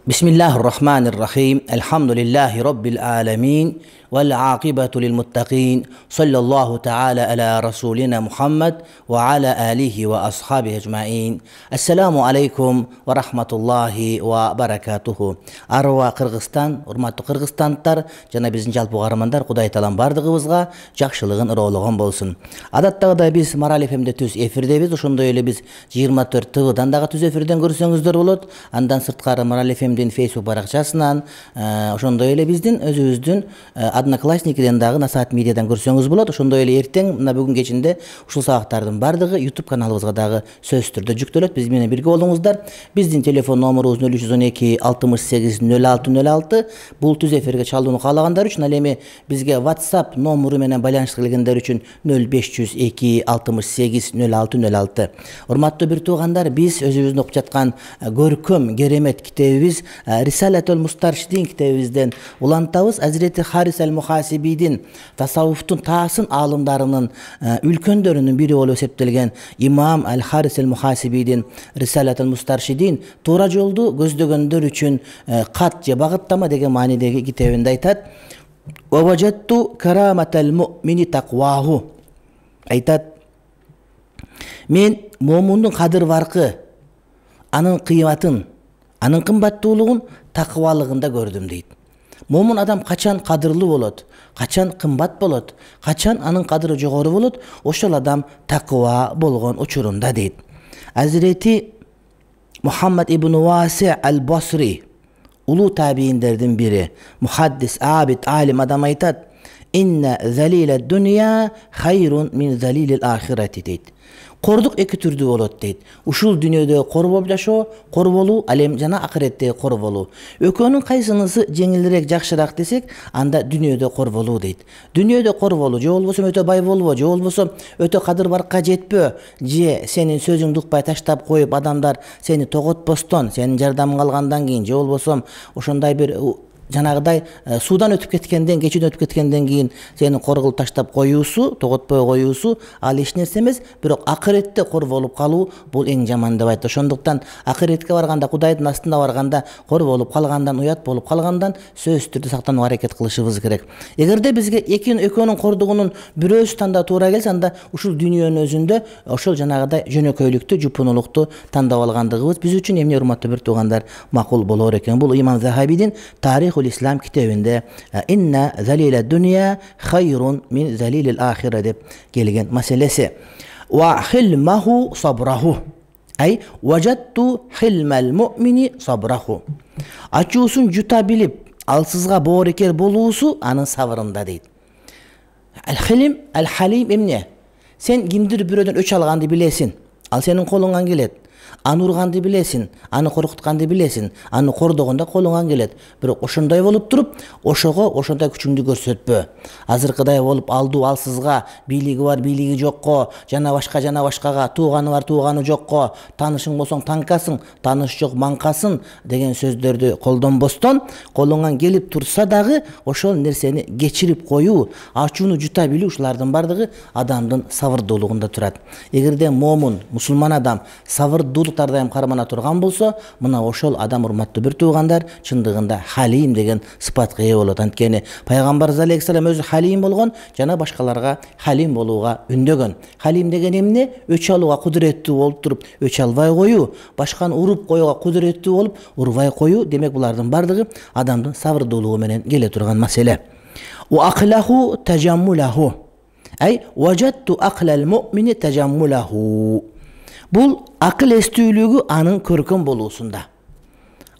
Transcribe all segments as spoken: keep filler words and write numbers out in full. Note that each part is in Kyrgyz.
Bismillahirrahmanirrahim. Elhamdülillahi Rabbil alemin. Vel aqibatu lil muttaqin. Sallallahu ta'ala ala rasulina Muhammed ve ala alihi ve ashabihi ecmain. Assalamu alaikum ve rahmatullahi ve barakatuhu. Arwa Kırgızstan, urmаттуу Kırgızстандар жана биздин жалпы каармандар, Кудай таалам бардыгыбызга жакшылыгын ыроологон болсун. Адаттагыдай биз Марал эф эмде түз эфирдебиз. Ошондой эле биз жыйырма төрт тэ вэ-дан дагы түз эфирден көрсөңүздөр болот. Андан сырткары Марал эф эмдин Facebook баракчасынан, ошондой эле биздин өзүбүздүн Одноклассникиден дагы Насаат медиадан көрсөңүз болот. Ошондой эле эртең мына бүгүн кечинде ушул сабактардын бардыгы YouTube каналыбызга дагы сөзсүз түрдө жүктөлөт. Биз менен бирге болуңуздар. Биздин телефон номерубуз нөл үч жүз он эки алтымыш сегиз нөл алты нөл алты. Бул түз эфирге чалууну каалагандар үчүн, ал эми бизге WhatsApp номеру менен байланышка келгендер үчүн нөл беш жүз эки алтымыш сегиз нөл алты нөл алты. Урматтуу бир туугандар, биз өзүбүздүн окуп жаткан көркөм керемет китебибиз Рисалатул Мустаршидин китебибизден улантабыз. Азирети Харис аль-Мухасибидин, тасаввуфтун таасын аалымдарынын үлкөндөрүнүн бири болуп эсептелген имам аль-Харис аль-Мухасибидин Рисалатул Мустаршидин туура жолду көздөгөндөр үчүн кат же багыттама деген маанидеги китебинде айтат: "Ва важатту караматал муъмини тaqваху". Айтат: "Мен момундун кадыр баркы, анын кыйматын, анын кымбаттуулугун такыбалыгында көрдүм" дейт. Момун адам качан кадырлуу болот, качан кымбат болот, качан анын кадыры жогору болот, ошол адам такыба болгон учурунда дейт. Азирети Мухаммад ибн Васи аль-Басри, улуу табииндердин бири, мухаддис, абид, алим адам айтат: "Инна залила дунья хайрун мин залилил ахирати" дейт. Кордук эки түрдүү болот дейт. Ушул дүйнөдө кор болуп жашоо, кор болуу, ал эми жана акыретте кор болуу. Экөөнүн кайсынысы жеңилирээк, жакшыраак десек, анда дүйнөдө кор болуу дейт. Дүйнөдө кор болуу, же болбосо өтө бай болбо, же болбосо өтө кадыр баркка жетпөө, же сенин сөзүңдү укпай таштап коюп, адамдар сени тоготпостон, сенин жардамың алгандан кийин, же болбосо ошондой бир жанагыдай суудан өтүп кеткенден, кечүүдөн өтүп кеткенден кийин сени кор кылып таштап коюусу, тоготпой коюусу ал эч нерсе эмес, бирок акыретте кор болуп калуу бул эң жаман деп айтты. Ошондуктан акыретке барганда, Кудайдын астында барганда кор болуп калгандан, уят болуп калгандан сөзсүз түрдө сактанууга аракет кылышыбыз керек. Эгерде бизге эки экөөнүн кордугунун бирөөсү тандоо туура келсе, анда ушул дүйнөнүн өзүндө ошол жанагыдай жөнөкөйлүктү, жупунулукту тандап алгандыгыбыз биз үчүн эмне, урматтуу бир туугандар, макул болор экен. Бул имам Захабидин Тарих Ислам китебинде "Инна залила дунья хайрун мин залилил ахира" деп келген маселеси. Ва хилмаху сабраху. Ай важатту хилмал муъмини сабраху. Ачуусун жута билип, алсызга боорекер болуусу анын сабырында дейт. Ал-хилм, ал-халим эмне? Сен кимдир бирөөдөн өч алганды билесиң, ал сенин колуңан келет. Аны урганды билесиң, аны коркутканды билесиң, аны кордогондо колуңан келет. Бирок ошондой болуп туруп, ошого ошондой күчүңдү көрсөтпө. Азыркыдай болуп алдуу алсызга, бийлиги бар, бийлиги жокко, жана башка жана башкага, тууганы бар, тууганы жокко, таанышың болсоң танкасың, тааныш жок маңкасың деген сөздөрдү колдонбостон, колуңан келип турса дагы ошол нерсени кечирип коюу, ачууну жута билүү, ушулардын бардыгы адамдын сабырдуулугунда турат. Эгерде момун, мусулман адам сабырдуулук дайым кармана турган болсо, мына ошол адам, урматтуу бир туугандар, чындыгында халим деген сыпатка ээ болот. Анткени пайгамбар алейхиссалам өзү халим болгон, жана башкаларга халим болууга үндөгөн. Халим деген эмне? Өч алууга кудуреттүү болуп туруп, өч албай коюу, башканы уруп коюуга кудуреттүү болуп, урбай коюу. Демек булардын бардыгы адамдын сабырдуулугу менен келе турган маселе. Ва акылаху тажаммулаху. Ай важатту акылал муъмини тажаммулаху. Бул акыл эстүүлүгү анын көркөм болуусунда.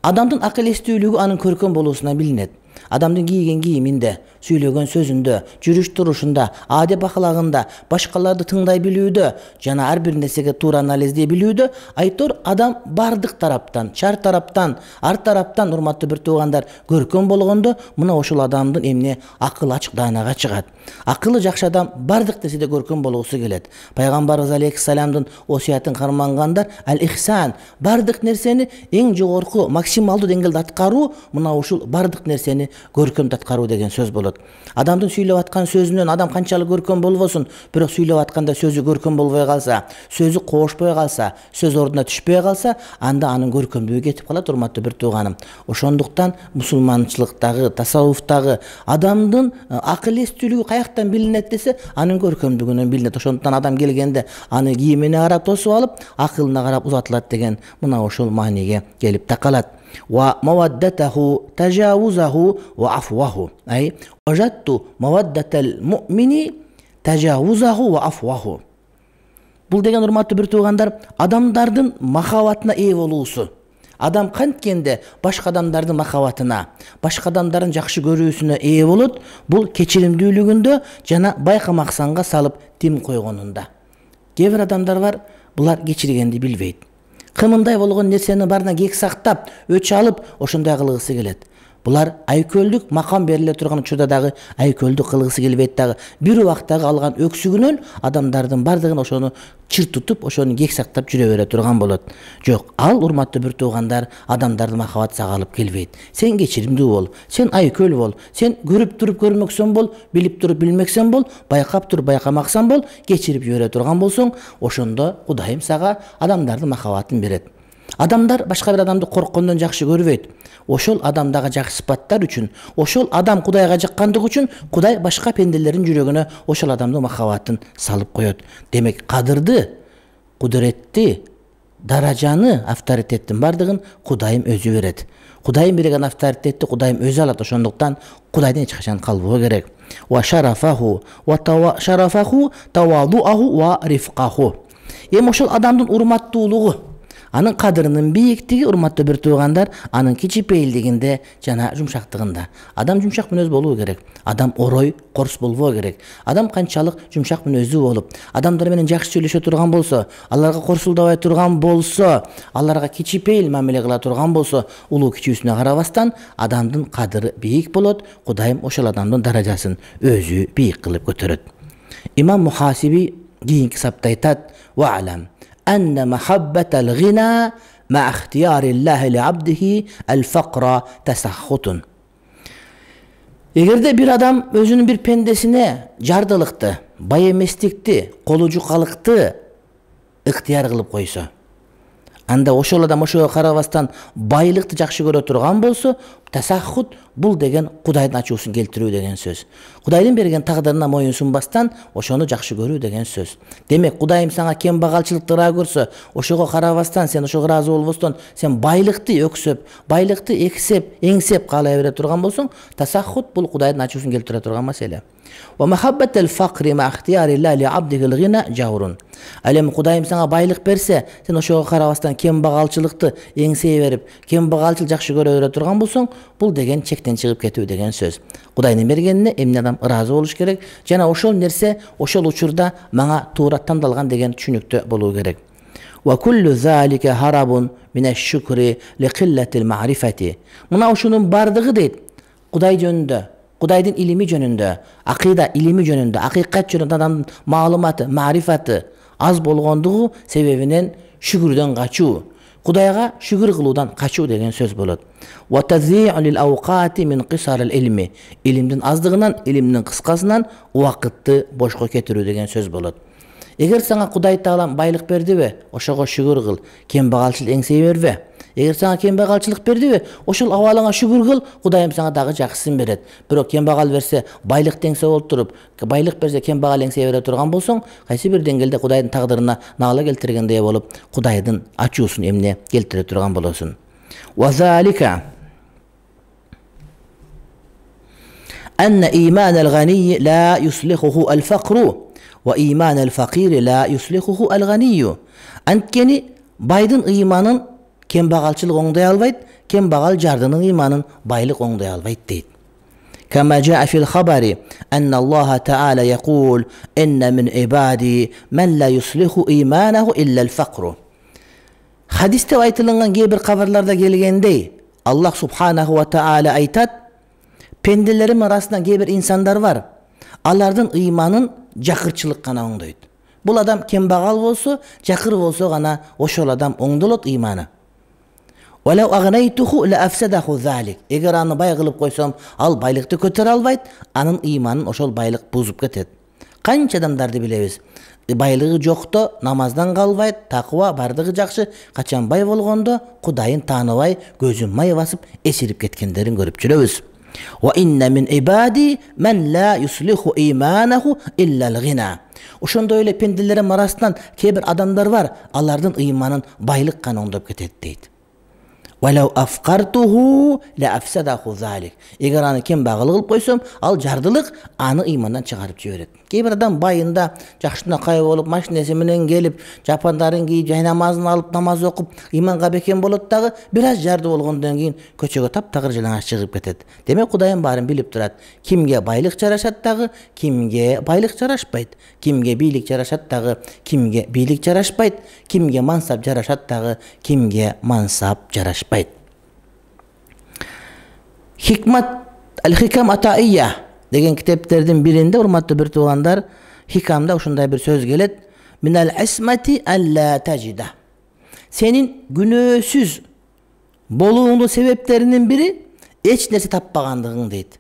Адамдын акыл эстүүлүгү анын көркөм болуусунан билинет. Адамдын кийген кийиминде, сүйлөгөн сөзүндө, жүрүш турушунда, адеп ахлагында, башкаларды тыңдай билүүдө, жана ар бир нерсеге туура анализдей билүүдө, айтор адам бардык тараптан, чар тараптан, ар тараптан, урматтуу бир туугандар, көркөм болгондо, мына ошол адамдын эмне акыл ачык даанага чыгат. Акылы жакшы адам бардык нерседе көркөм болгусу келет. Пайгамбарыбыз алейхиссаламдын осуятын кармангандар аль-ихсан, бардык нерсени эң жогорку максималдуу деңгээлде аткаруу, мына ушул бардык нерсени аракетини көркөм таткаруу деген сөз болот. Адамдын сүйлөп аткан сөзүнөн адам канчалык көркөм болбосун, бирок сүйлөп атканда сөзү көркөм болбой калса, сөзү кошпой калса, сөз ордуна түшпөй калса, анда анын көркөмдүгү кетип калат, урматтуу бир тууганым. Ошондуктан мусулманчылыктагы, тасаввуфтагы адамдын акыл эстүүлүгү каяктан билинет десе, анын көркөмдүгүнөн билинет. Ошондуктан адам келгенде аны кийимине карап тосуп алып, акылына карап узатылат деген мына ошол мааниге келип такалат. Ва маваддатаху тажавузаху ва афваху. Ай важатту маваддатал муъмини тажавузаху ва афваху. Бул деген, урматтуу бир туугандар, адамдардын махабатына ээ болуусу. Адам канткенде башка адамдардын махабатына, башка адамдардын жакшы көрүүсүнө ээ болот, бул кечиримдүүлүгүндө жана байкамаксанга салып тим койгонунда. Кээ бир адамдар бар, булар кечиргенди билбейт. Кымындай болгон нерсени барына кек сактап, өч алып, ошондой кылгысы келет. Булар айкөлдүк макам бериле турган учурда дагы айкөлдүк кылгысы келбейт дагы. Бир убактагы алган өксүгүнөн адамдардын бардыгын ошону чыр тутуп, ошону кек сактап жүрө бере турган болот. Жок, ал, урматтуу бир туугандар, адамдардын махабаты сага алып келбейт. Сен кечиримдүү бол, сен айкөл бол, сен көрүп туруп көрмөксөң бол, билип туруп билмексең бол, байкап туруп байкамаксаң бол, кечирип жибере турган болсоң, ошондо Кудайым сага адамдардын махабатын берет. Адамдар башка бир адамды корккондон жакшы көрбөйт. Ошол адамдагы жакшы сыпаттар үчүн, ошол адам Кудайга жаккандыгы үчүн Кудай башка пенделердин жүрөгүнө ошол адамдын махабатын салып коет. Демек, кадырды, кудуретти, даражаны, авторитеттин бардыгын Кудайым өзү берет. Кудайым берген авторитетти Кудайым өзү алат. Ошондуктан Кудайдан эч качан калбоо керек. Ва шарафаху ва шарафаху тавадуаху ва рифкаху. Эми ошол адамдын урматтуулугу, анын кадырынын бийиктиги, урматтуу бир туугандар, анын кичипейилдигинде жана жумшактыгында. Адам жумшак мүнөз болуу керек. Адам орой, корс болбоо керек. Адам канчалык жумшак мүнөздүү болуп, адамдар менен жакшы сүйлөшө турган болсо, аларга корсулдабай турган болсо, аларга кичипейил мамиле кыла турган болсо, улуу кичүүсүнө карабастан адамдын кадыры бийик болот. Кудайым ошол адамдын даражасын өзү бийик кылып көтөрөт. Имам Мухасиби кийинки сапта айтат: "Ва алам أن محبة الغنى مع اختيار الله لعبده الفقر تسخط." Эгерде бир адам өзүнүн бир пендесине жардылыкты, бай эместикти, колу жукалыкты ыктыяр кылып койсо, анда ошол адам ошого карабастан байлыкты жакшы көрө турган болсо, тасаххут бул деген Кудайдын ачуусун келтирүү деген сөз. Кудайдын берген тагдырына моюн сунбастан ошону жакшы көрүү деген сөз. Демек, Кудайым сага кембагалчылыкты ыраа көрсө, ошого карабастан, сен ошого ыраазы болбостон, сен байлыкты өксөп, байлыкты эксеп, эңсеп каалай бере турган болсоң, тасаххут бул Кудайдын ачуусун келтире турган маселе. Ва махаббатал факри ма ихтияри ла абдиhi al-ghina жаурун. Ал эми Кудайым сага байлык берсе, сен ошого карабастан кембагалчылыкты эңсей берип, кембагалчыл жакшы көрө бере турган болсоң, бул деген чектен чыгып кетүү деген сөз. Кудайдын бергенине эмне адам ыраазы болуш керек, жана ошол нерсе ошол учурда мага туура тандалган деген түшүнүктө болуу керек. Ва куллу залика харабун минаш-шукри ли qillati al-ma'rifati. Мына ушунун бардыгы дейт, Кудай жөнүндө, Кудайдын илими жөнүндө, акыйда илими жөнүндө, акыйкат жөнүндө адамдын маалыматы, мa'rifati аз болгондугу себебинен шүгүрдөн качуу, Кудайга шүгүр кылуудан качуу деген сөз болот. Ва тази'у лил awqati min qisar al-ilmi. Илимдин аздыгынан, илимдин кыскасынан убакытты бошко кетирүү деген сөз болот. Эгер сага Кудай Таалам байлык бердиби, ошого шүгүр кыл, кембагалчыл эңсей бербе. Эгер сага кембагалчылык бердиби, ошол абалыңа шүгүр кыл, Кудайым сага дагы жакшысын берет. Бирок кембагал берсе, байлык теңсе болуп туруп, байлык берсе кембагал эңсей бере турган болсоң, кайсы бир деңгээлде Кудайдын тагдырына наала келтиргендей болуп, Кудайдын ачуусун эмне келтире турган болосуң. Ва залика анна иман ал-гани ла юслихуху al-faqru ва иман al-faqiri ла юслихуху al-ghaniyyu. Анткени байдын ыйманын кембагалчылык оңдой албайт, кембагал жардынын ыйманын байлык оңдой албайт дейт. Кама жаа фил хабари анна Аллаха таала якул инна мин ибади ман ла юслиху иманаху илля al-faqru. Хадисте айтылган кээ бир кабарларда келгендей, Аллах субханаху ва таала айтат: пенделерим арасынан кээ бир инсандар бар, алардын ыйманын жакырчылык гана оңдойт. Бул адам кембагал болсо, жакыр болсо гана ошол адам оңдолот ыйманы. Валау агнайтуху ла афсадаху залик. Эгер аны бай кылып койсом, ал байлыкты көтөрө албайт, анын ыйманын ошол байлык бузуп кетет. Канча адамдарды билебиз. Байлыгы жокто намаздан калбайт, такыба бардыгы жакшы, качан бай болгондо Кудайын тааныбай, көзүн май басып эсирип кеткендерин көрүп жүрөбүз. Ва инна мин ибади мен ла юслиху иманаху илля ал-гина. Ошондой эле пенделерим арасынан кээ бир адамдар бар, алардын ыйманын байлык гана оңдоп кетет дейт. Валау афкартуху ла афсадаху залик. Эгер аны кембагыл кылып койсом, ал жардылык аны ыймандан чыгарып жиберет. Кээ бир адам байында жакшына кай болуп, машинеси менен келип, жапандарын кийип, жай намазын алып, намаз окуп, ыйманга бекем болот дагы, бир аз жарды болгондон кийин көчөгө таптагыр жалаңаш чыгып кетет. Демек Кудайым баарын билип турат. Кимге байлык жарашат дагы, кимге байлык жарашпайт. Кимге бийлик жарашат дагы, кимге бийлик жарашпайт. Кимге мансап жарашат дагы, кимге мансап жарашпайт. Хикмат ал-хикам атаия деген китептердин биринде, урматтуу бир туугандар, хикамда ушундай бир сөз келет. Минал асмати алла тажида. Сенин күнөөсүз болууңдун себептеринин бири эч нерсе таппагандыгың дейт.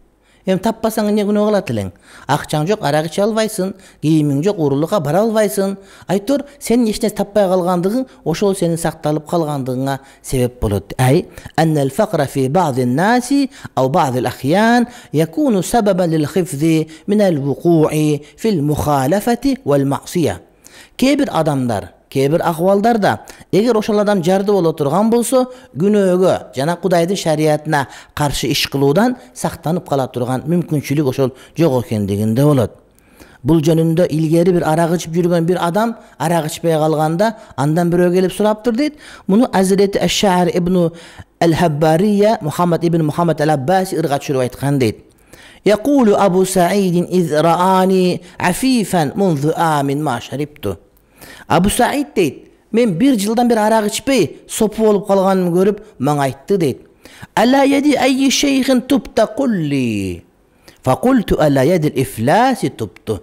Эми таппасаң эмне күнөө кылат элең? Акчаң жок, арак иче албайсың, кийимиң жок, уурулукка бара албайсың. Айтор, сенин эч нерсе таппай калгандыгың ошол сенин сакталып калгандыгыңа себеп болот. Ай, аннал факра фи ба'дин наси ау ба'дил ахян якуну сабабан лил хифзи минал вукуи фил мухалафати вал маъсия. Кээ бир адамдар, кээ бир акыбалдарда эгер ошол адам жарды боло турган болсо, күнөөгө жана Кудайдын шариятына каршы иш кылуудан сактанып кала турган мүмкүнчүлүк ошол жок экендигинде болот. Бул жөнүндө илгери бир арак ичип жүргөн бир адам арак ичпей калганда андан бирөө келип сураптыр дейт. Муну Азирети Аш-Шаъир ибн ал-Хаббария Мухаммад ибн Мухаммад ал-Аббаси ырга түшүрүп айткан дейт. Якулу Абу Саидин из раани афифан мунзу амин ма шарибту. Абу Саид дейт, мен бир жылдан бир арак ичпей сопу болуп калганымды көрүп мага айтты дейт. Ала яди айи шейхин тубта кулли. Факульту ала яди ифласи тубту.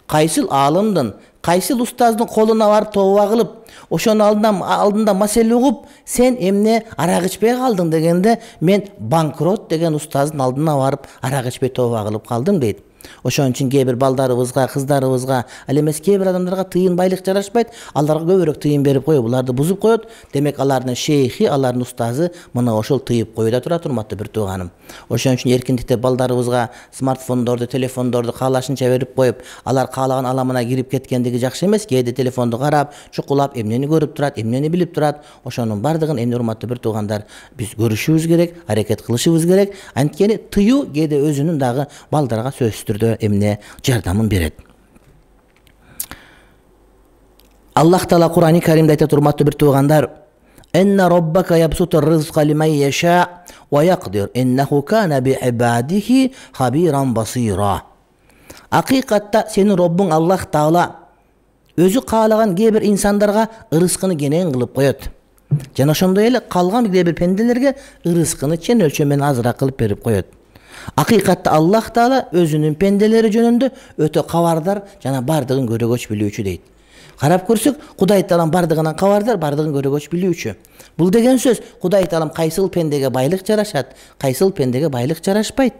Кайсыл алымдын, кайсыл устаздын колуна барып тооба кылып, ошонун алдында алдында маселе угуп, сен эмне арак ичпей калдың дегенде, мен банкрот деген устаздын алдына барып арак ичпей тооба кылып калдым дейт. Ошон үчүн кээ бир балдарыбызга, кыздарыбызга, ал эмес кээ бир адамдарга тыйын байлык жарашпайт, аларга көбүрөөк тыйын берип коюп, буларды бузуп коет. Демек алардын шейхи, алардын устазы мына ошол тыйып коюуда турат, урматтуу бир тууганым. Ошон үчүн эркиндикте балдарыбызга смартфондорду, телефондорду каалашынча берип коюп, алар каалаган аламына кирип кеткендиги жакшы эмес. Кээде телефонду карап, чукулап, эмнени көрүп турат, эмнени билип турат. Ошонун бардыгын эмне, урматтуу бир туугандар, биз көрүшүбүз керек, аракет кылышыбыз керек. Анткени тыюу кээде өзүнүн дагы балдарга сөзсүз түрдө эмне жардамын берет. Аллах Таала Кур'ани Каримде айтат, урматтуу бир туугандар, «Инна роббака ябсутур ризqa лиман яша ва яqdir, иннаху кана би ибадихи хабиран басира». Акыйкатта сенин Роббуң Аллах Таала өзү каалаган кээ бир инсандарга ырыскыны кенен кылып коет. Жана ошондой эле калган кээ бир пенделерге ырыскыны чен өлчөм менен азыраак кылып берип коет. Акыйкатта Аллах Таала өзүнүн пенделери жөнүндө өтө кабардар жана бардыгын көрөгөч билүүчү дейт. Карап көрсөк, Кудай Таалам бардыгынан кабардар, бардыгын көрөгөч билүүчү. Бул деген сөз Кудай Таалам кайсыл пендеге байлык жарашат, кайсыл пендеге байлык жарашпайт.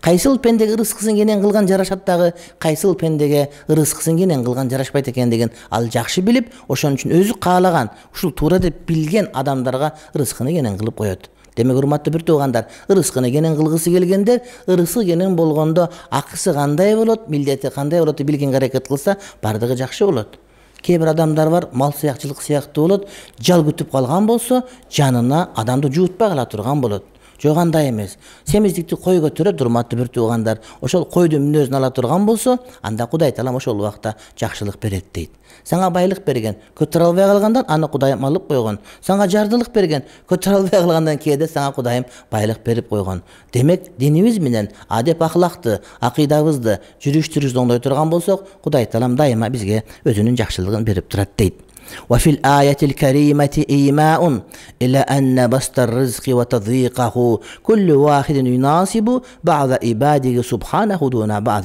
Кайсыл пендеге ырыскысын кенен кылган жарашат дагы, кайсыл пендеге ырыскысын кенен кылган жарашпайт экендигин ал жакшы билип, ошон үчүн өзү каалаган, ушул туура деп билген адамдарга ырыскыны кенен кылып коет. Демек, урматтуу бир туугандар, ырыскыны кенен кылгысы келгендер, ырысы кенен болгондо акысы кандай болот, милдети кандай болот деп билген аракет кылса, бардыгы жакшы болот. Кээ бир адамдар бар, мал сыякчылык сыяктуу болот, жал күтүп калган болсо, жанына адамды жуутпай кала турган болот. Жок, андай эмес. Семиздикти кой көтөрөт, урматтуу бир туугандар. Ошол койдун мүнөзүн ала турган болсо, анда Кудай Таалам ошол убакта жакшылык берет дейт. Сага байлык берген, көтөрө албай калгандан аны Кудайым алып койгон. Сага жардылык берген, көтөрө албай калгандан кээде сага Кудайым байлык берип койгон. Демек, динибиз менен адеп ахлакты, акыйдабызды, жүрүш-түрүбүздү оңдой турган болсок, Кудай Таалам дайыма бизге өзүнүн жакшылыгын берип турат дейт. وفي الآية الكريمة إيماء إلى أن بسط الرزق وتضييقه كل واحد يناسب بعض عباده سبحانه دون بعض.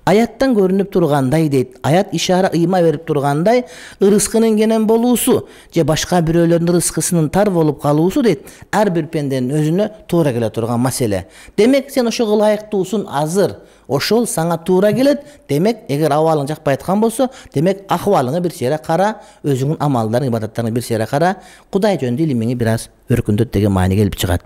Аяттан көрүнүп тургандай дейт. Аят ишара ыйма берип тургандай, ырыскынын кенен болуусу же башка бирөөлөрдүн ырыскысынын тар болуп калуусу дейт. Ар бир пенденин өзүнө туура келе турган маселе. Демек сен ошого ылайыктуусун азыр. Ошол саңа туура келет. Демек эгер абалың жакпай аткан болсо, демек акыбалыңы бир сере кара, өзүңүн амалдарың, ибадаттарың бир сере кара, Кудай жөнүндө илимиңи бир аз өркүндөт деген маани келип чыгат.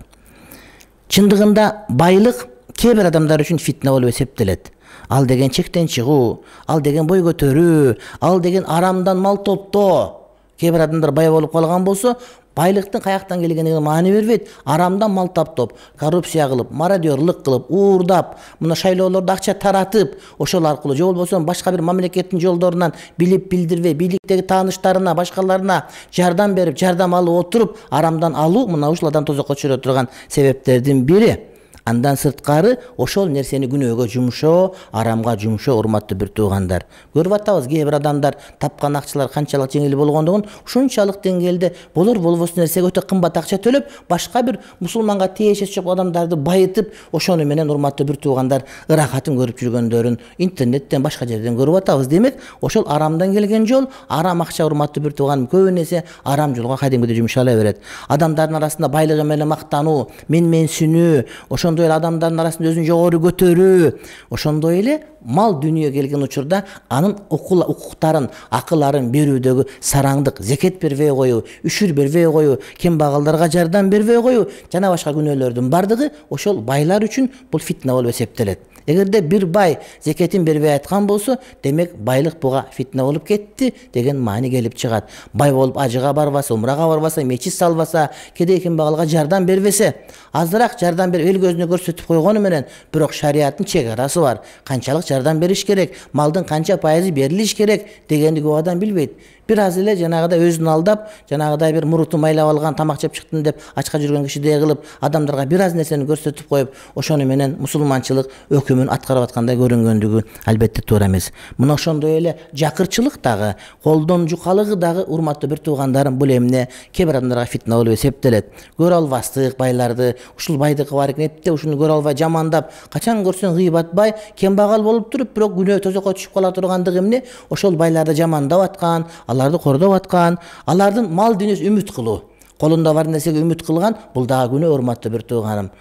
Чындыгында байлык кээ бир адамдар үчүн фитна болуп эсептелет. Ал деген чектен чыгуу, ал деген бой көтөрүү, ал деген арамдан мал топтоо. Кээ бир адамдар бай болуп калган болсо, байлыктын каяктан келгенине маани бербейт. Арамдан мал таптоп, коррупция кылып, мародёрлук кылып, уурдап, мына шайлоолордо акча таратып, ошол аркылуу же болбосо башка бир мамлекеттин жолдорунан билип билдирбей, бийликтеги тааныштарына, башкаларына жардам берип, жардам алып отуруп, арамдан алуу мына ушул адам тозокко түшүрө турган себептердин бири. Андан сырткары ошол нерсени күнөөгө жумшоо, арамга жумшоо, урматтуу бир туугандар. Көрүп атабыз, кээ бир адамдар тапкан акчалар канчалык жеңил болгондугун, ушунчалык деңгээлде болор болбос нерсеге өтө кымбат акча төлөп, башка бир мусулманга тиешеси жок адамдарды байытып, ошону менен урматтуу бир туугандар ырахатын көрүп жүргөндөрүн интернеттен, башка жерден көрүп атабыз. Демек, ошол арамдан келген жол, арам акча, урматтуу бир тууган, көбүн эсе арам жолго кадимкидей жумшала берет. Адамдардын арасында байлыгы менен мактануу, менменсинүү, ошондой эле адамдардын арасында өзүн жогору көтөрүү, ошондой эле мал дүнүйө келген учурда анын укуктарын, акыларын берүүдөгү сараңдык, зекет бербей коюу, үшүр бербей коюу, кембагалдарга жардам бербей коюу жана башка күнөөлөрдүн бардыгы ошол байлар үчүн бул фитна болуп эсептелет. Эгерде бир бай зекетин бербей аткан болсо, демек байлык буга фитна болуп кетти деген маани келип чыгат. Бай болуп ажыга барбаса, умрага барбаса, мечит салбаса, кедей кембагалга жардам бербесе, азыраак жардам берип эл көзүнө көрсөтүп койгону менен, бирок шариаттын чек арасы бар. Канчалык жардам бериш керек, малдын канча пайызы берилиш керек дегенди көп адам билбейт. Бир аз эле жанагыдай өзүн алдап, жанагыдай бир мурутун майлап алган, тамак жеп чыктым деп ачка жүргөн кишидей кылып, адамдарга бир аз нерсени көрсөтүп коюп, ошону менен мусулманчылык өкүмүн аткарып аткандай көрүнгөндүгү албетте туура эмес. Мына ошондой эле жакырчылык дагы, колдон жукалыгы дагы, урматтуу бир туугандарым, бул эмне кээ бир адамдарга фитна болуп эсептелет. Көрө албастык байларды, ушул байдыкы бар экен, этте ушуну көрө албай жамандап, качан көрсөң гыйбатбай, кембагал болуп туруп, бирок күнөө тозокко түшүп кала тургандыгы эмне? Ошол байларды жамандап аткан, аларды кордоп аткан, алардын мал дүнүйөсү үмүт кылуу, колунда бар нерсеге үмүт кылган, бул дагы күнөө, урматтуу бир тууганым.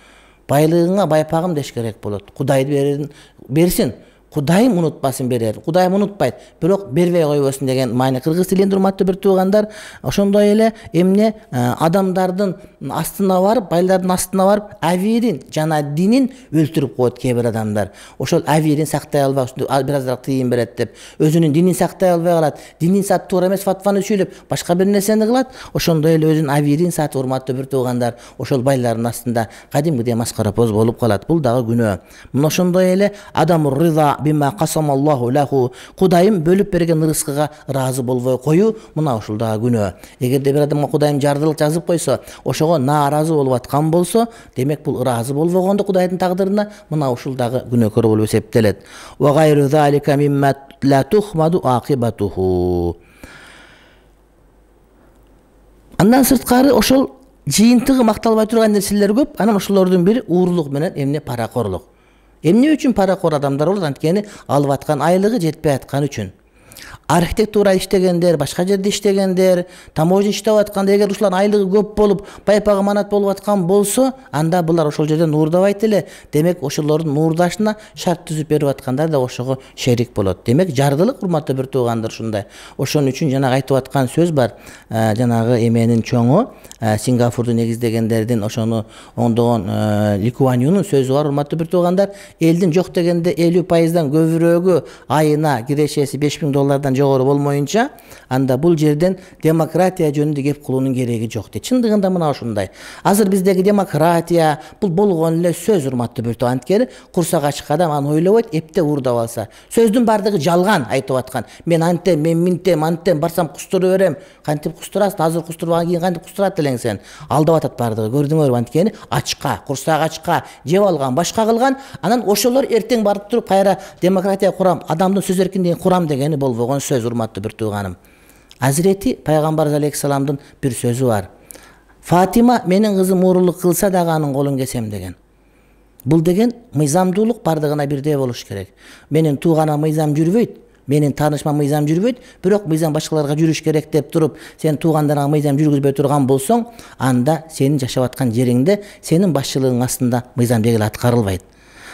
Байлыгыңа байпагым деш керек болот. Кудай берин берсин. Кудайым унутпасын берер. Кудайым унутпайт, бирок бербей койбосун деген маани. Кыргыз тилинде урматтуу бир туугандар, ошондой эле эмне адамдардын астына барып, байлардын астына барып, авирин жана динин өлтүрүп коет кээ бир адамдар. Ошол авирин сактай албай, бир азыраак тыйын берет деп, өзүнүн динин сактай албай калат. Динин сат туура эмес фатваны сүйлөп, башка бир нерсени кылат. Ошондой эле өзүнүн авирин сатып, урматтуу бир туугандар, ошол байлардын астында кадимкидей маскарапоз болуп калат. Бул дагы күнөө. Мына ошондой эле адамур риза бима касамаллаху лаху, Кудайым бөлүп берген рызкыга ыраазы болбой коюу, мына ушул дагы күнөө. Эгерде бир адамга Кудайым жардылык жазып койсо, ошого нааразы болуп аткан болсо, демек бул ыраазы болбогондо Кудайдын тагдырына, мына ушул дагы күнөөкөр болуп эсептелет. Ва гайру залика мимма ла тухмаду акибатуху. Андан сырткары ошол жыйынтыгы макталбай турган нерселер көп. Анан ошолордун бири уурлук менен эмне паракорлук. Эмне үчүн паракор адамдар болот? Анткени алып аткан айлыгы жетпей аткан үчүн. Архитектура иштегендер, башка жерде иштегендер, таможня иштеп атканда, эгер ушулардын айлыгы көп болуп, байпагы манат болуп аткан болсо, анда булар ошол жерден нуурдабайт эле. Демек, ошолордун нуурдашына шарт түзүп берип аткандар да ошого шерик болот. Демек, жардылык, урматтуу бир туугандар, ушундай. Ошон үчүн жанагы айтып аткан сөз бар. Жанагы эменин чоңу, Сингапурду негиздегендердин, ошону оңдогон Ли Куан Юнун сөзү бар, урматтуу бир туугандар. Элдин жок дегенде элүү пайыздан көбүрөөгү айына кирешеси беш миң доллардан жогору болмоюнча, анда бул жерден демократия жөнүндө кеп кылуунун кереги жок дейт. Чындыгында мына ушундай. Азыр биздеги демократия бул болгон эле сөз, урматтуу бир тууган. Анткени курсак ачык адам аны ойлобойт, эпте уурдап алса. Сөздүн бардыгы жалган айтып аткан. Мен антем, мен минтем, антем, барсам кустуруп берем. Кантип кустурасың? Азыр кустурбаган кийин кантип кустурат элең сен? Алдап атат бардыгы. Көрдүңөрбү? Анткени ачка, курсак ачка, жеп алган, башка кылган. Анан ошолор эртең барып туруп кайра демократия курам, адамдын сөз эркиндигин курам дегени болбогон сөз, урматтуу бир тууганым. Азирети пайгамбарыбыз алейхиссаламдын бир сөзү бар. Фатима менин кызым уурулук кылса дагы анын колун кесем деген. Бул деген мыйзамдуулук бардыгына бирдей болуш керек. Менин тууганым мыйзам жүрбөйт, менин таанышмам мыйзам жүрбөйт, бирок мыйзам башкаларга жүрүш керек деп туруп, сен туугандарыңа мыйзам жүргүзбөй турган болсоң, анда сенин жашап аткан жериңде сенин башчылыгың астында мыйзам дегеле аткарылбайт.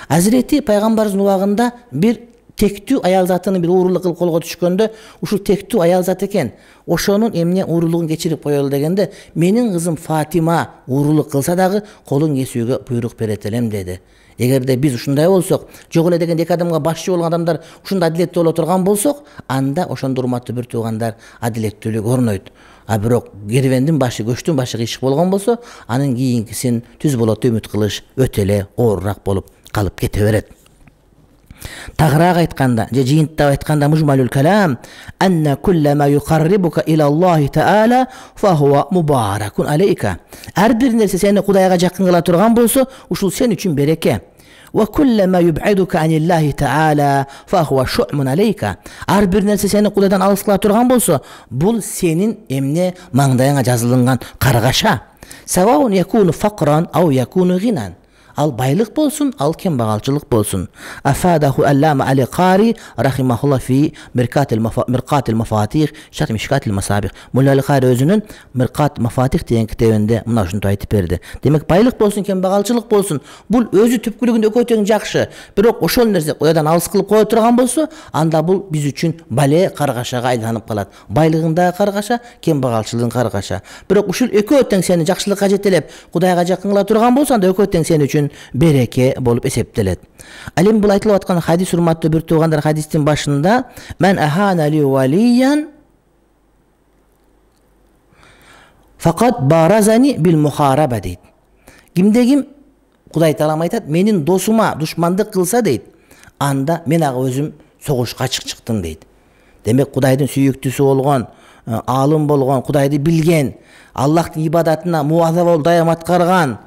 Азирети пайгамбарыбыздын убагында бир тектүү аял затынын бир уурулук кылып колго түшкөндө, ушул тектүү аял зат экен, ошонун эмне уурулугун кечирип коелу дегенде, менин кызым Фатима уурулук кылса дагы колун кесүүгө буйрук берет элем деди. Эгерде биз ушундай болсок, жок эле деген эки адамга башчы болгон адамдар ушундай адилеттүү боло турган болсок, анда ошондо урматтуу бир туугандар адилеттүүлүк орнойт. А бирок кервендин башы, көчтүн башы кыйшык болгон болсо, анын кийинкисин түз болот үмүт кылыш өтө эле оорураак болуп калып кете берет. Тагыраак айтканда, же жыйынтыктап айтканда, мужмалул калам анна куллама юқаррибука илаллахи таала фахуа мубаракун алейка. Ар бир нерсе сени Кудайга жакын кыла турган болсо, ушул сен үчүн береке. Ва куллама юб'идука аниллахи таала фахуа шу'мун алейка. Ар бир нерсе сени Кудайдан алыс кыла турган болсо, бул сенин эмне маңдайыңа жазылган каргаша. Саваун якуну фақран ау якуну гинан. Ал байлык болсун, ал кембагалчылык болсун. Афадаху аллама али Qaari рахимахулла фи миркатил миркатил мафатих шарh мишкатил масабих. Мулла али Qaari өзүнүн миркат мафатих деген китебинде мына ушунду айтып берди. Демек байлык болсун, кембагалчылык болсун, бул өзү түпкүлүгүндө экөө тең жакшы. Бирок ошол нерсе Кудайдан алыс кылып кое турган болсо, анда бул биз үчүн бале каргашага айланып калат. Байлыгында каргаша, кембагалчылыгын каргаша. Бирок ушул экөө тең сени жакшылыкка жетелеп, Кудайга жакын кыла турган болсо, анда экөө тең сен үчүн береке болуп эсептелет. Ал эми бул айтылып аткан хадис, урматтуу бир туугандар, хадистин башында мен ахана ли валиян фақат баразани бил мухараба дейт. Кимде ким Кудай таалам айтат, менин досума душмандык кылса дейт, анда мен ага өзүм согушка чыктым дейт. Демек Кудайдын сүйүктүүсү болгон, аалым болгон, Кудайды билген, Аллахтын ибадатына муаза болуп дайым аткарган,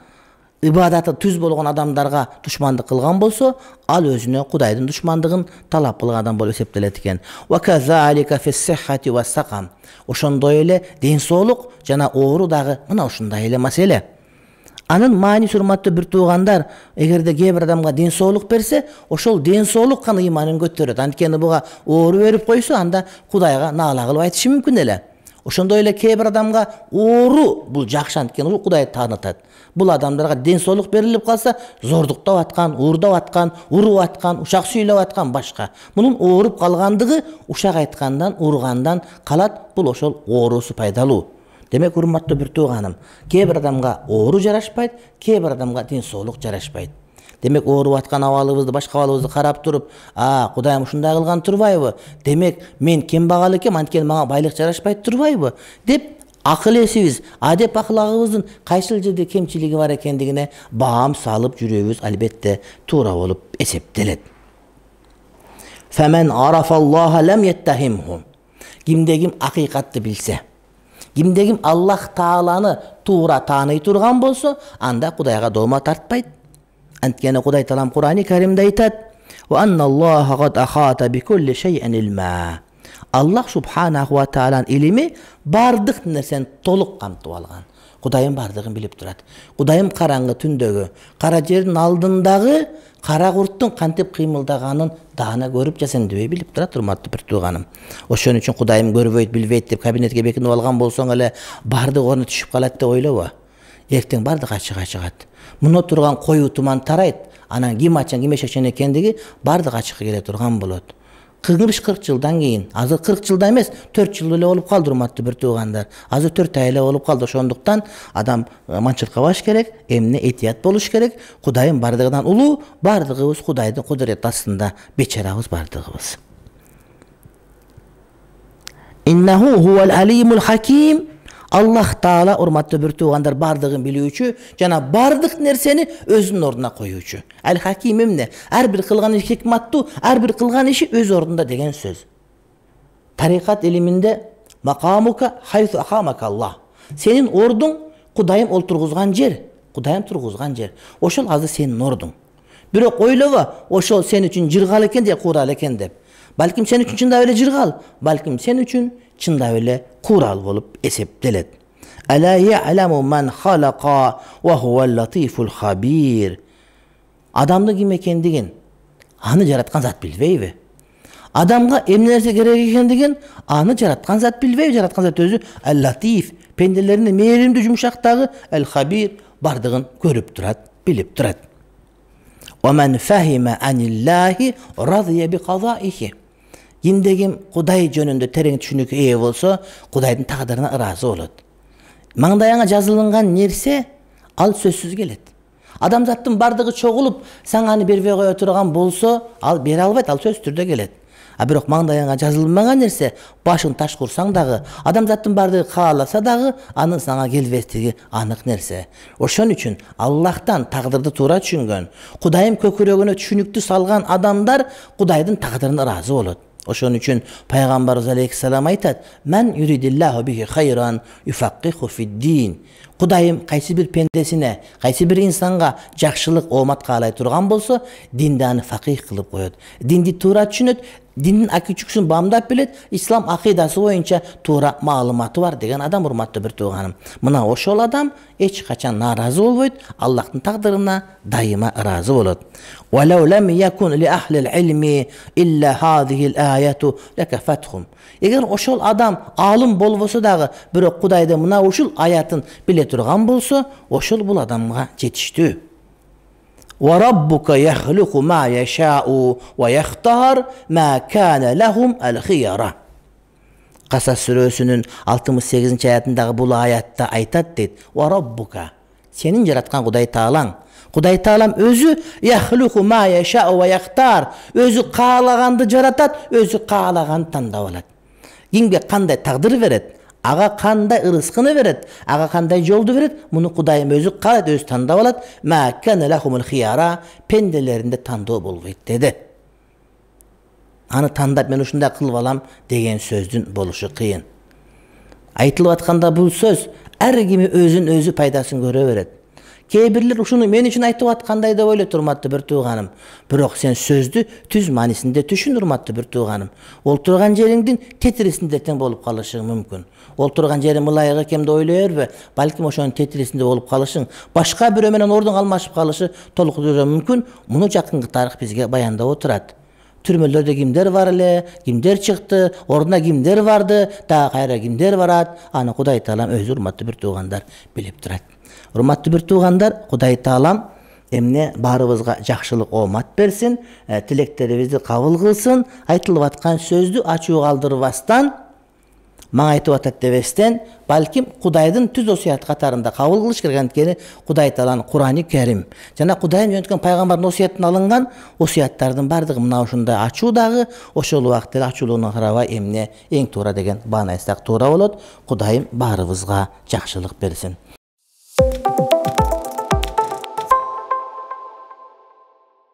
ибадаты түз болгон адамдарга душмандык кылган болсо, ал өзүнө Кудайдын душмандыгын талап кылган адам болуп эсептелет экен. Ва казалика фиссихати ва сакам. Ошондой эле ден соолук жана оору дагы мына ушундай эле маселе. Анын мааниси, урматтуу бир туугандар, эгерде кээ бир адамга ден соолук берсе, ошол ден соолук гана ыйманын көтөрөт. Анткени буга оору берип койсо, анда Кудайга наала кылып айтышы мүмкүн эле. Ошондой эле кээ бир адамга оору бул жакшы, анткени бул Кудайды таанытат. Бул адамдарга ден соолук берилип калса, зордуктап аткан, уурдап аткан, уруп аткан, ушак сүйлөп аткан башка. Мунун ооруп калгандыгы ушак айткандан, ургандан калат. Бул ошол оорусу пайдалуу. Демек, урматтуу бир тууганым, кээ бир адамга оору жарашпайт, кээ бир адамга ден соолук жарашпайт. Демек, ооруп аткан абалыбызды, башка абалыбызды карап туруп, а, Кудайым ушундай кылган турбайбы? Демек, мен кембагал экем, анткени мага байлык жарашпайт турбайбы? Деп акыл эсибиз, адеп аклагыбыздын кайсыл жерде кемчилиги бар экендигине баам салып жүрүүбүз албетте туура болуп эсептелет. Фамен арафаллаха лам яттахимху. Кимде ким акыйкатты билсе, кимде ким Аллах тааланы туура тааный турган болсо, анда Кудайга дома тартпайт. Анткени Кудай таалам Кур'ани Каримде айтат: "Ва анналлаха кад ахата бикулли шай'ин илма." Аллах субханаху ва тааланын илими бардык нерсени толук камтып алган. Кудайым бардыгын билип турат. Кудайым караңгы түндөгү, кара жердин алдындагы кара курттун кантип кыймылдаганын даана көрүп жасандыбай билип турат, урматтуу бир тууганым. Ошон үчүн Кудайым көрбөйт, билбейт деп кабинетке бекинип алган болсоң эле бардык ордуна түшүп калат деп ойлобо. Эртең бардык ачык чыгат. Муну турган коюу туман тарайт. Анан ким ачан, ким эшекчен экендиги бардык ачыкка келе турган болот. кырк жылдан кийин, азыр кырк жылда эмес, төрт жыл эле болуп калды, урматтуу бир туугандар. Азыр төрт ай эле болуп калды. Ошондуктан адам манчыркабаш керек, эмне этият болуш керек. Кудайым бардыгынан улуу, бардыгыбыз Кудайдын кудурети астында, бечарабыз бардыгыбыз. Иннаху хувал алимул хаким. Аллах таала, урматтуу бир туугандар, бардыгын билүүчү жана бардык нерсени өзүнүн ордуна коюучу. Ал хаким эмне? Ар бир кылган иши хикматтуу, ар бир кылган иши өз ордунда деген сөз. Тарикат илиминде макамука хайсу ахамака Аллах. Сенин ордуң Кудайым олтургузган жер, Кудайым тургузган жер. Ошол азыр сенин ордуң. Бирок ойлобо, ошол сен үчүн жыргал экен же курал экен деп. балким сен үчүн чындап эле жыргал, балким сен үчүн чындап эле курал болуп эсептелет. Ала я'ламу ман халаqa ва хувал латифул хабир. Адамдын ким экендигин аны жараткан зат билбейби? Адамга эмне нерсе керек экендигин аны жараткан зат билбейби? Жараткан зат өзү ал-латиф, пенделеринин мээримдүү жумшактагы, ал-хабир, бардыгын көрүп турат, билип турат. Ва ман фахима аниллахи радия би казаихи. Кимде ким Кудай жөнүндө терең түшүнүккө ээ болсо, Кудайдын тагдырына ыраазы болот. Маңдайыңа жазылган нерсе ал сөзсүз келет. Адамзаттын бардыгы чогулуп, саң аны бербей кое турган болсо, ал бере албайт, ал сөзсүз түрдө келет. А бирок маңдайыңа жазылмаган нерсе, башың таш курсаң дагы, адамзаттын бардыгы кааласа дагы, анын сага келбестиги анык нерсе. Ошон үчүн Аллахтан тагдырды туура түшүнгөн, Кудайым көкүрөгүнө түшүнүктү салган адамдар Кудайдын тагдырына ыраазы болот. Ошон үчүн пайгамбарыбыз алейхиссалам айтат: "Мен юридиллаху бихи хайран юфаккиху фид-дин." Кудайым кайсы бир пендесине, кайсы бир инсанга жакшылык, оомат каалай турган болсо, динди аны факих кылып коет. Динди туура түшүнөт, диндин акичүксүн бамдап билет, ислам акыйдасы боюнча туура маалыматы бар деген адам, урматтуу бир тууганым. Мына ошол адам эч качан нааразы болбойт, Аллахтын тагдырына дайыма ыраазы болот. Валау лам якун ли ахлил илми илля хадихил аяту лакафатхум. Эгер ошол адам алым болбосо дагы, бирок Кудайды мына ушул аятын биле турган болсо, ошол бул адамга жетиштүү. Ва раббука яхлуqu ма яшау ва яхтар ма кана лахум ал-хияра. Касас сүрөсүнүн алтымыш сегизинчи аятындагы бул аятта айтат дейт: "Ва раббука", сенин жараткан Кудай Таалаң. Кудай Таалам өзү яхлуqu ма яшау ва яхтар, өзү каалаганды жаратат, өзү каалаганды тандап алат. Кимге кандай тагдыр берет, ага кандай ырыскыны берет, ага кандай жолду берет, муну Кудайым өзү каалайт, өзү тандап алат. Ма кана лахумул хияра, пенделеринде тандоо болбойт деди. Аны тандап мен ушундай кылып алам деген сөздүн болушу кыйын. Айтылып атканда бул сөз ар кими өзүн өзү пайдасын көрө берет. Кээ бирлер ушуну мен үчүн айтып аткандай деп ойлойт, урматтуу бир тууганым. Бирок сен сөздү түз маанисинде түшүн, урматтуу бир тууганым. Ол турган жериңдин тетрисинде тең болуп калышың мүмкүн. Ол турган жериң мылайга кемди ойлой бербе, балким ошонун тетрисинде болуп калышың, башка бирөө менен ордун алмашып калышы толук мүмкүн. Муну жакынкы тарых бизге баяндап отурат. Түрмөлөрдө кимдер бар эле, кимдер чыкты, ордуна кимдер барды, дагы кайра кимдер барат, аны Кудай Таалам өзү, урматтуу бир туугандар, билип турат. Урматтуу бир туугандар, Кудай Таалам эмне баарыбызга жакшылык, оомат берсин, тилектерибизди кабыл кылсын, айтылып аткан сөздү ачуу калтырбастан, мага айтып атат дебестен, балким Кудайдын түз осуят катарында кабыл кылыш керек. Анткени Кудай Тааланын Курани Карим жана Кудайдын жөнөткөн пайгамбардын осуятынан алынган осуяттардын бардыгы мына ушундай ачуу дагы, ошол убакытта эле ачуулугуна карабай эмне эң туура деген бааны айтсак туура болот. Кудайым баарыбызга жакшылык берсин.